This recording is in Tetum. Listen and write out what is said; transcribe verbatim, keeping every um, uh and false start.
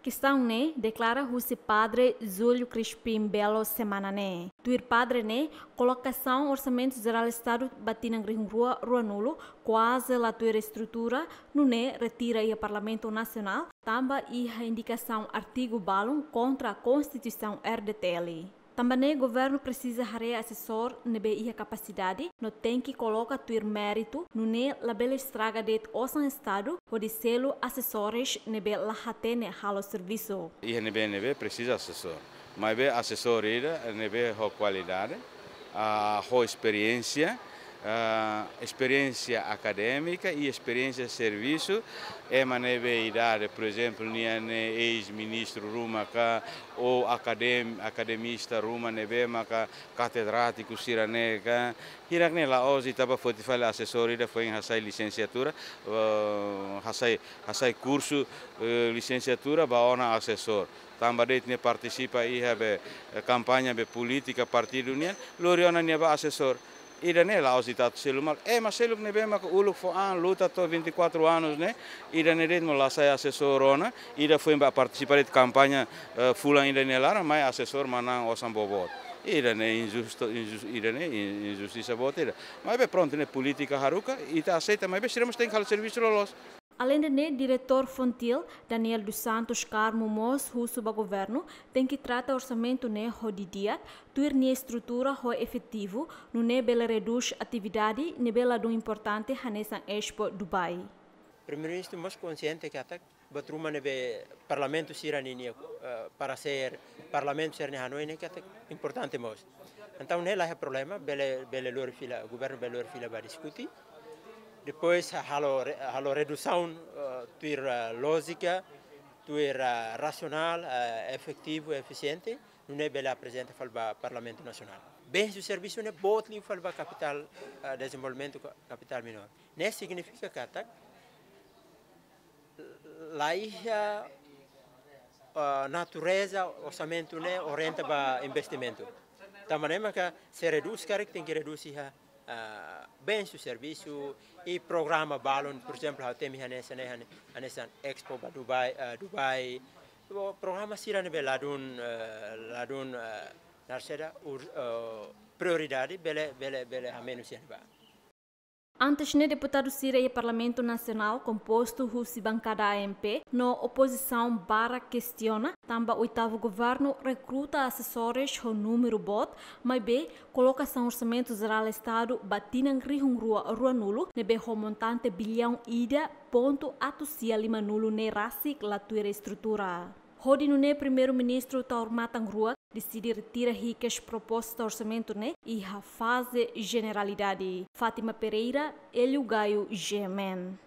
Kestaun ne'e deklara husi Padre Júlio Crispim Belo semana ne'e. Tuir padre ne'e, kolokasaun Orsamentu Jerál Estadu ba tinan rihun rua ruanulu kuaze la tuir estrutura, nune'e retira iha Parlamentu Nasionál, tanba iha indikasaun artigu balun kontra Konstituisaun R D T L. Tanba ne'e governu presiza haree asesór ne'ebé iha kapasidade no tenke koloka tuir méritu, nune'e labele estraga de'it osan Estadu hodi selu asesores ne'ebé la hatene halo servisu. Iha ne'ebé ne'ebé presiza asesór. Maibé asesór ida ne'ebé ho kualidade, ah, ho esperiénsia, ah, esperiénsia akadémika i esperiénsia servisu, ema ne'ebé idade, por ezemplu, nia ne'e eis-ministru ruma ka, ou akadem-, akademista ruma ne'ebé maka katedrátiku sira-ne'e ka. Hirak-ne'e la'ós ita bá foti fali asesór ida foin hasai lisensiatura, eh, hasai, hasai kursu, eh, lisensiatura ba ona asesór. Tanba de'it nia partisipa iha be, eh, kampaña be polítika partidu nian, lori ona nia ba asesór. Ida-ne'e la'ós ita atu selu malu. Ema seluk ne'ebé maka uluk fó an luta to'o vinte e quatro anos ne'e, ida-ne'e de'it mak la sai asesór ona, ida foin bá partisipa de'it kampaña, eh, fulan ida nia laran, mai asesór manán osan boboot. Ida-ne'e injustu, injus-, ida-ne'e in-, injustisa boot ida. Maibé prontu, ne'e polítika haruka, ita aseita, maibé sira mós tenke halo servisu loloos. Aleinde ne'e, Diretór Fontil, Daniel dos Santos Carmo mós husu ba governu tenke trata orsamentu ne'e ho didi'ak, tuir nia estrutura ho efetivu, nune'e bele redús atividade ne'ebé ladún importante hanesan Expo Dubai. Primeiru-Ministru mós konsiente katak buat ruma ne'ebé parlamentu sira-nia, eh, paresér, parlamentu sira-nia hanoin ne'e katak importante mós. Entaun ne'e la iha problema, bele, bele lori fila, governu bele lori fila ba diskute. Depois halo re-, halo redusaun, eh, tuir, eh, lójika, tuir, eh, rasionál, eh, efetivu, efisiente, nune'e bele aprezenta fali ba Parlamentu Nasionál. Bensu servisu ne'e boot liu fali ba kapitál, eh, dezenvolvimentu ka-, kapitál minór. Ne'e signifika katak la iha, ah, natureza orsamentu ne'e orienta ba investimentu. Tanba ne'e maka se redús karik tenke redús iha, ah, bensu servisu i programa balun, por ezemplu, ha'u temi hanesan ne'e, hane-, hanesan Expo ba Dubai, ah, Dubai. Bo, programa sira ne'ebé ladún, eh, ladún, eh, naran saida, ur-, eh, prioridade bele, bele, bele hamenus iha ne'ebá. Antes ne'e, deputadu sira iha Parlamentu Nasionál kompostu husi bankada A M P no opozisaun barak kestiona tanba oitavu governu rekruta asesores ho númeru boot, maibé kolokasaun Orsamentu Jerál Estadu ba tinan rihun rua ruanulu ne'ebé ho montante biliaun ida pontu atus sia limanulu ne'e rasik la tuir estrutura. Hodi nune'e Primeiru-Ministru Taur Matan Ruak deside retira hikas proposta orsamentu ne'e iha faze jeneralidade. Fátima Pereira, Hélio Gaio, G M N.